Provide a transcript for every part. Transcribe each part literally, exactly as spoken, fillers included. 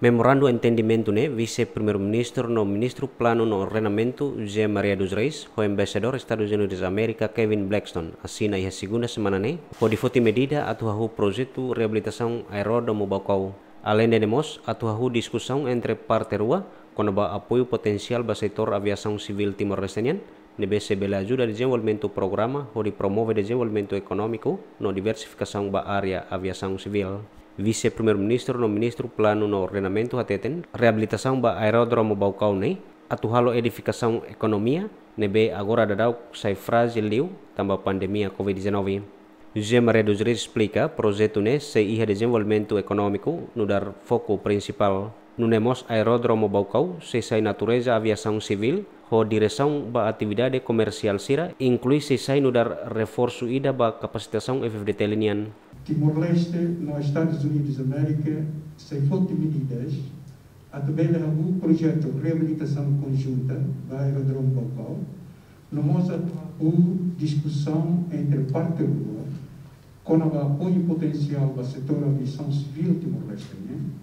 Memorandu entendimentu ne'e Vise-Primeiru-Ministru no Ministru Planu no Ordenamentu, José Maria dos Reis, ho Embaixadór Estadus Unidus Amérika, Kevin Blackstone, asina iha segunda semana ne'e, hodi foti medida atu hahú projetu reabilitasaun Aeródromu Baucau. Aleinde ne'e mós, atu hahú diskusaun entre parte rua, kona-ba apoiu potensiál ba setór aviasaun sivíl Timor-Leste nian, ne'ebé sei bele ajuda dezenvolvimentu programa hodi promove dezenvolvimentu ekonómiku no diversifikasaun ba área aviasaun sivíl. Vise-Primeiru-Ministru no Ministru Planu no Ordenamentu hateten, reabilitasaun ba Aeródromu Baucau ne'e atu halo edifikasaun ekonomia ne'ebé agora daudaun sai frájil liu tanba pandemia covid dezanove. José Maria dos Reis esplika, projetu ne'e sei iha dezenvolvimentu ekonómiku nu'udar foku prinsipál. Nune'e mós Aeródromu Baucau sei sai natureza aviasaun sivíl, ho diresaun ba atividade komersiál sira, inklui sei sai nu'udar reforsu ida ba kapasitasaun F F D T L nian. Timor-Leste no Estadus Unidus Amérika sei foti medidas atu bele hahú projetu reabilitasaun konjunta ba Aeródromu Baucau, no mós atu hahú diskusaun entre parte rua, kona-ba apoiu potensiál ba setór aviasaun sivíl Timor-Leste nian,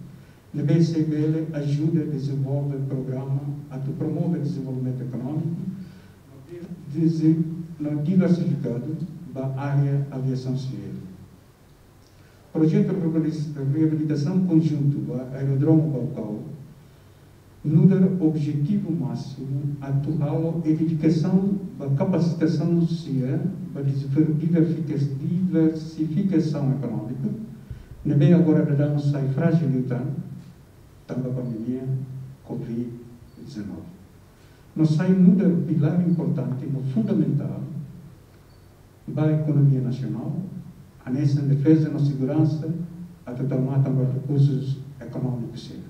ne'ebé sei bele ajuda dezenvolve programa atu promove dezenvolvimentu ekonómiku, dizi-, no diversifikadu ba área aviasaun sivíl. Projetu reabilis-, reabilitasaun konjuntu ba Aeródromu Baucau nu'udar objetivu másimu atu halo edifikasaun ba kapasitasaun sira ba diver-, diversifikas-, diversifikasaun ekonómika, ne'ebé agora daudaun sai frájil liután tanba pandemia covid dezanove. No sai nu'udar pilár importante no fundamentál ba ekonomia nasionál, hanesan defeza no seguransa, atu tau matan ba rekursus ekonómikus sira.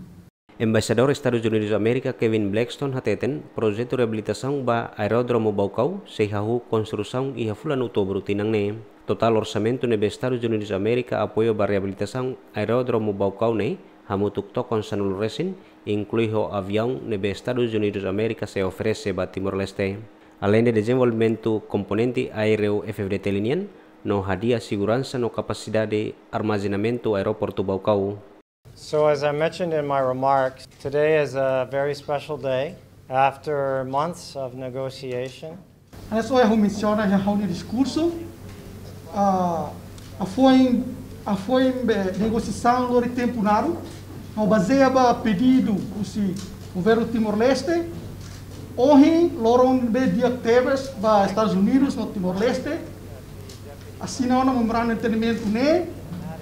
Embaixadór Estadus Unidus Amérika, Kevin Blackstone, hateten, projetu reabilitasaun ba Aeródromu Baucau sei hahú konstrusaun iha fulan Outubru tinan ne'e. Totál orsamentu ne'ebé Estadus Unidus Amérika apoiu ba reabilitasaun Aeródromu Baucau ne'e hamutuk tokon sanulu resin, inklui ho aviaun ne'ebé Estadus Unidus Amérika sei oferese ba Timor-Leste. Aleinde dezenvolvimentu komponente aéreu F F D T L nian, no hadi'a seguransa no kapasidade armazenamentu Aeroportu Baucau. So, as I mentioned in my remarks, today is a very special day. After months of negotiation, Hanesan ohin ha'u mensiona iha ha'u-nia diskursu, ah, hafoin, hafoin be negosiasaun lori tempu naruk, no bazeia ba pedidu husi Governu Timor-Leste, ohin loron be di'ak tebes ba Estadus Unidus no Timor-Leste asina ona memorandu entendimentu ne'e,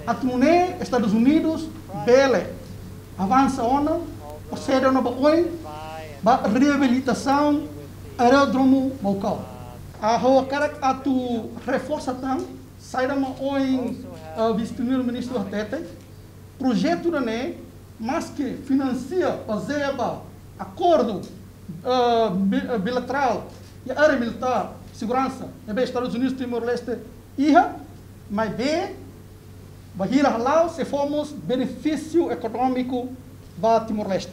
atu nune'e Estadus Unidus bele avansa ona, prosede ona ba oin, ba reabilitasaun Aeródromu Baucau. Ah, ha'u hakarak atu reforsa tan saida mak ohin, ah, Vise-Primeiru-Ministru hateten, projetu ida-ne'e, maske finansia bazeia ba akordu, ah, bi-, ah, bilaterál iha área militár, seguransa, ne'ebé Estadus Unidus Timor-Leste iha, maibé bainhira hala'o sei fó mós benefísiu ekonómiku ba Timor-Leste.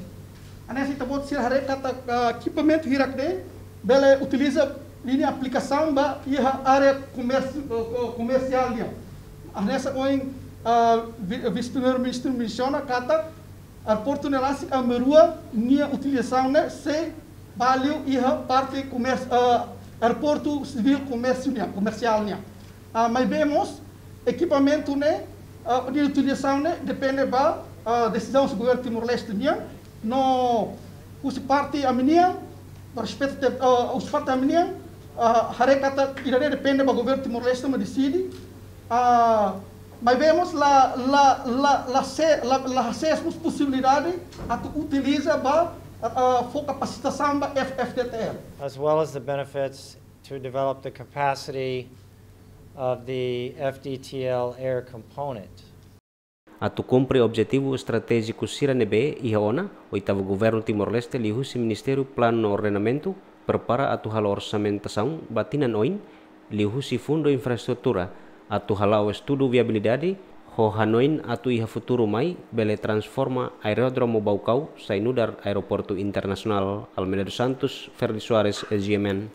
Hanesan ita-boot sira haree katak, ah, ekipamentu hirak-ne'e bele utiliza ninia aplikasaun ba iha área komérsiu, eh, ko-, komersiál nian. Hanesan ohin, ah, vi-, Vise-Primeiru-Ministru mensiona katak aeroportu ne'e rasik Amarua nia utilizasaun ne'e sei ba liu iha parte komérsiu, ah, aeroportu sivíl komérsiu nian, komersiál nian. Ah, maibé mós ekipamentu ne'e, ah, nia utilizasaun ne'e depende ba, ah, desizaun husi Governu Timor-Leste nian, no husi parte ami-nian, ba respeita te-, ah, husi parte ami-nian, ah, haree katak ida-ne'e depende ba Governu Timor-Leste mak deside, ah, maibé mós la, la, la, la se-, la, la hasees mós posibilidade atu utiliza ba, ah, ah, fó kapasitasaun ba F F D T L. As well as the benefits to develop the capacity of the F D T L air component. Atu kumpre objetivu estratéjiku sira ne'ebé iha ona, oitavu Governu Timor-Leste liuhusi Ministériu Planu no Ordenamentu prepara atu halo orsamentasaun ba tinan oin, liuhusi Fundu Infraestrutura, atu hala'o estudu viabilidade, ho hanoin atu iha futuru mai bele transforma Aeródromu Baucau sai nu'udar Aeroportu Internasionál. Almeida dos Santos, Ferdi Soares, S G M N.